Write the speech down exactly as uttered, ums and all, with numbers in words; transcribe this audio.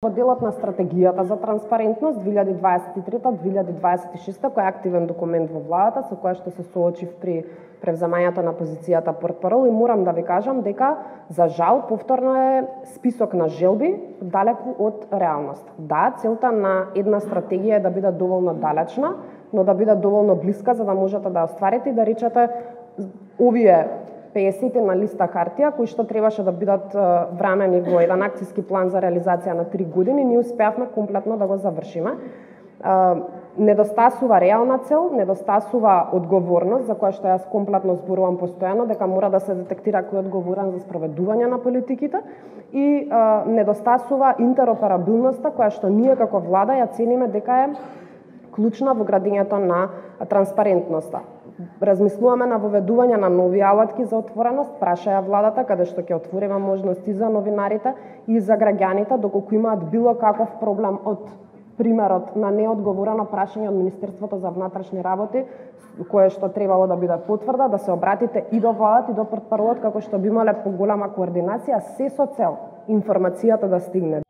како делот на стратегијата за транспарентност две илјади дваесет и трета до две илјади дваесет и шеста, кој е активен документ во владата со која што се соочив при превземањето на позицијата портпарол, и морам да ви кажам дека за жал повторно е список на желби далеку од реалност. Да, целта на една стратегија е да биде доволно далечна, но да биде доволно блиска за да можете да остварите и да речете овие песет на листа хартија кои што требаше да бидат врамени во еден акциски план за реализација на три години, ние успеавме комплетно да го завршиме. Недостасува реална цел, недостасува одговорност, за која што јас комплетно зборувам постојано, дека мора да се детектира кој е одговорен за спроведување на политиките, и а, недостасува интероперабилноста, која што ние како влада ја цениме дека е клучна во градењето на транспарентноста. Размислуваме на воведување на нови алатки за отвореност, прашаја владата, каде што ќе отвориме можности за новинарите и за граѓаните, доколку имаат било каков проблем од примерот на неодговорено прашање од Министерството за внатрешни работи, кое што требало да биде потврда, да се обратите и до владата и до портпаролот, како што би имале поголема координација, се со цел информацијата да стигне